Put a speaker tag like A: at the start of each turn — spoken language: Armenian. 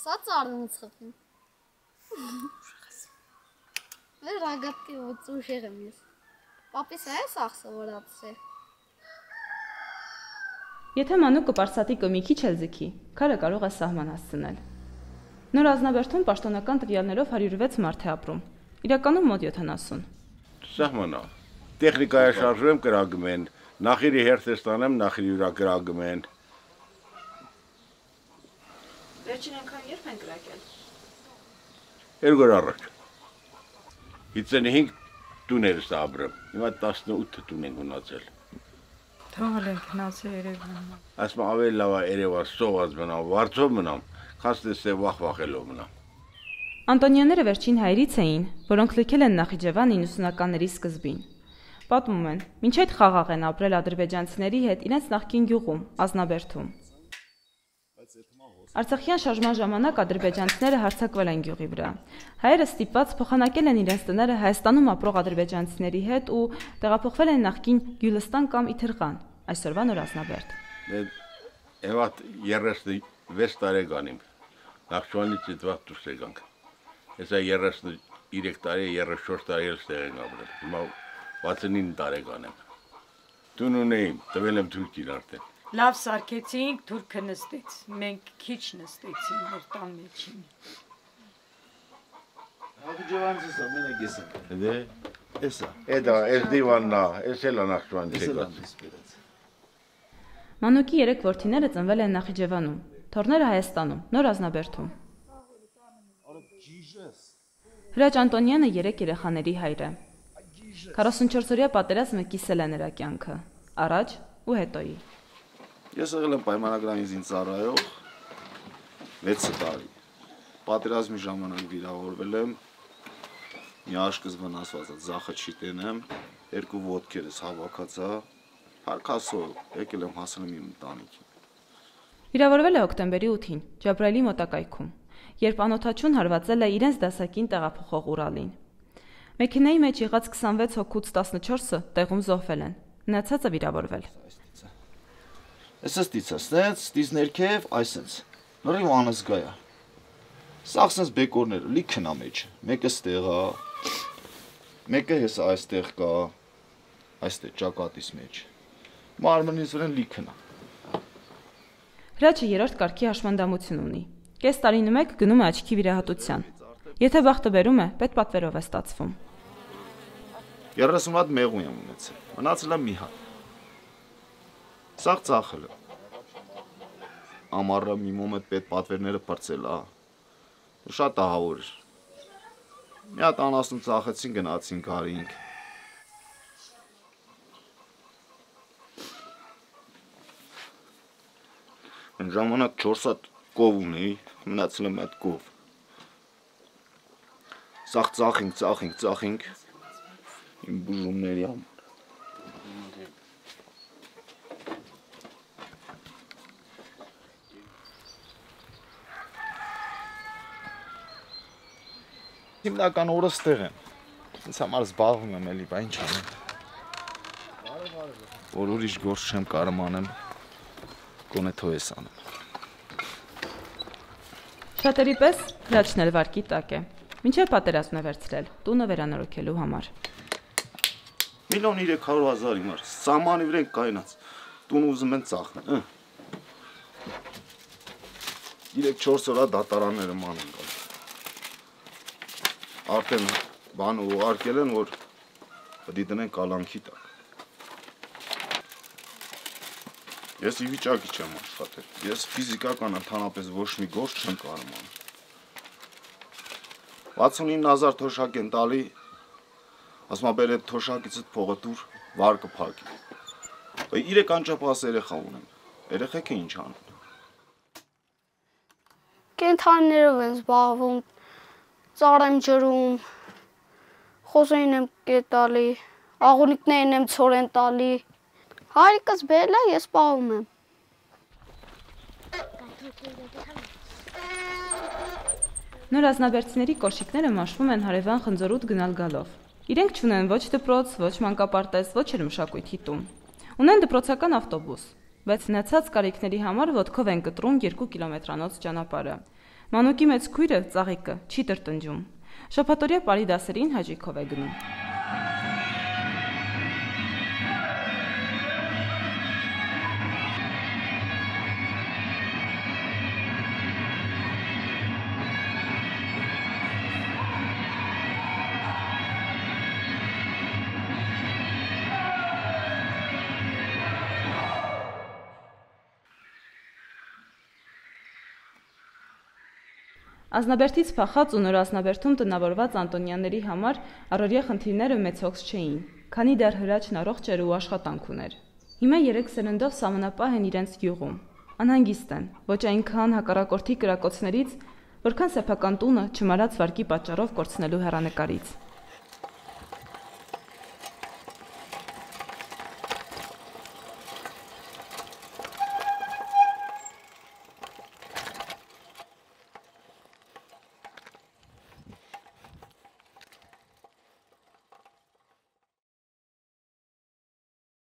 A: Սա ծառնից խփում։ Մեր ռագատկի ուշեղ եմ ես։ Պապիս է սախսը որացե։
B: Եթե մանուկը պարսատիկը մի քիչ էլ ձգի, քարը կարող է սահման հասցնել։ Նոր Ազնավերդում պաշտոնական տվյալներով 106 մարդ է ապրում, իրականում մոտ 70։
C: Սահմանա, տեխնիկայը շարժում կրագում են, նախիրի հերթ ստանեմ, նախիրի ուրա կրագում են։
B: Վերջին անգամ երբ են կրակել։
C: 2 օր առաջ։ 55 տուներ է ապրում, հիմա 18 տուն են գնացել։
D: Թողել ենք գնացել Երևան։
C: Ասում ավելի լավ է Երևան սոված մնամ, վարձով մնամ, քան ստեսե վախվախելով մնամ։
B: Անտոնյանները վերջին հայերից էին, որոնք լքել են Նախիջևան 90-ականների սկզբին։ Պատմում են, մինչ այդ խաղաղ են ապրել ադրբեջանցիների հետ իրենց նախկին գյուղում, Ազնավերդում։ Արցախյան շարժման ժամանակ ադրբեջանցիները հարձակվել են գյուղի վրա։ Հայերը ստիպված փոխանակել են իրենց տները Հայաստանում ապրող ադրբեջանցիների հետ ու տեղափոխվել են նախկին Գյուլստան կամ Իթրղան, այսօրվա Նոր Ազնավերդ։
C: Եվա 36 տարեկան եմ, Նախճիվանից այդ վաղ դուրս եկանք։ Հեսա 33 տարի, 34 տարի էլ ստեղ ենք ապրել, հիմա 69 տարեկան եմ։ Տուն ունեիմ, տվել եմ թուրքին արդեն։
D: Լավ սարքեցինք, թուրքը նստեց, մենք քիչ նստեցինք մեր տան մեջին։
E: Նախիջևանցից է, մենակ ես եմ։
C: Դե,
E: Էսա։
C: էդա, էս դիվանն է, էս էլ է Նախճիվանից եկած։
B: Մանուկի 3 որդիները ծնվել են Նախիջևանում, թոռները Հայաստանում, Նոր Ազնավերդում։ Հրաչ Անտոնյանը 3 երեխաների հայր է։ 44-օրյա պատերազմը կիսել է նրա կյանքը, առաջ ու հետոյի։
E: Ես եղել եմ պայմանագրային զինծառայող 6 տարի։ Պատերազմի ժամանակ վիրավորվել եմ, մի աշկս վնասված է, ձախը չիտենեմ, 2 ոտքերս հավաքած է, հարկասով եկել եմ հասել եմ իմ ընտանիքին։
B: Վիրավորվել է հոկտեմբերի 8-ին, Ջաբրայելի մոտակայքում, երբ անօթաչուն հարվածել է իրենց դասակին տեղափոխող Ուրալին։ Մեքենայի մեջ եղած 26 հոգուց 14-ը տեղում զոհվել են, մնացածը վիրավորվել։
E: Էսս դիցա, ստից ներքև, այսենց, նորի անզգայա։ Սաղ սենց բեկորները, լիքն է մեջ, մեկը ստեղ է, մեկը հեսա այստեղ կա, այստեղ ճակատիս մեջ, մարմնից վրեն լիքն է։
B: Հրաչը 3-րդ կարգի հաշմանդամություն ունի, կես տարին մեկ գնում է աչքի վիրահատության, եթե բախտը բերում է, պետպատվերով է ստացվում։
E: 30 հատ մեղու եմ ունեցել, մնացել է մի հատ։ Սաղ ծախել է։ Ամառը մի մոմետ պետ պատվերները պրծել է, շատ ահավոր էր։ Մի հատ անասուն ծախեցին, գնացին կարինք։ Այն ժամանակ 4 հատ կով ունեի, մնացել եմ այդ կով։ Սաղ ծախինք, իմ բուժումների համար։ Հիմնական օրը ստեղ եմ, ինձ համար զբաղվում եմ էլի, բա ինչ անեմ։ Որ ուրիշ գործ չեմ կարում անեմ, գոնե թո ես անեմ։
B: Շատերի պես հրաչն էլ վարկի տակ է, մինչև պատերազմն է վերցրել, տունը վերանորոգելու համար։
E: 1.300.000 հիմար, սամանի վրեն կայնած, տուն ուզում են ծախնել, 3-4 օրա դատարանները ման են գալ։ Արդեն բան ուղարկել են, որ պտի տնեն կալանքի տակ։ Ես ի վիճակի չեմ աշխատել, ես ֆիզիկական ընդհանրապես ոչ մի գործ չեմ կարում անել։ 69,000 թոշակ են տալի, ասում ա բեր այդ թոշակիցդ փողը տուր, վարկը փակի։ 3 անճապահաս երեխա ունեմ, երեխեքը ինչ անեն։
A: Կենդանիներով են զբաղվում, ծառ եմ ջրում, խոզերին եմ կետալի, աղունիկներին եմ ցոր են տալի։ Հայրիկս բերել է, ես պահում եմ։
B: Նոր ազնավերցիների կոշիկները մաշվում են հարևան խնձորուտ գնալ գալով։ Իրենք չունեն ոչ դպրոց, ոչ մանկապարտեզ, ոչ էլ մշակույթի տուն։ Ունեն դպրոցական ավտոբուս, բայց մնացած կարիքների համար ոտքով են կտրում 2 կիլոմետրանոց ճանապարհը։ Մանուկի մեծ քույրը, Ծաղիկը, չի տրտնջում։ Շաբաթօրյա պարի դասերին հաճույքով է գնում։ Ազնաբերդից փախած ու նոր Ազնաբերդում տնավորված Անտոնյանների համար առօրյա խնդիրները մեծ հոգս չէին, քանի դեռ Հրաչն առողջ էր ու աշխատանք ուներ։ Հիմա 3 սերնդով սահմանապահ են իրենց գյուղում։ Անհանգիստ են, ոչ այնքան հակառակորդի կրակոցներից, որքան սեփական տունը չմարած վարկի պատճառով կորցնելու հեռանկարից։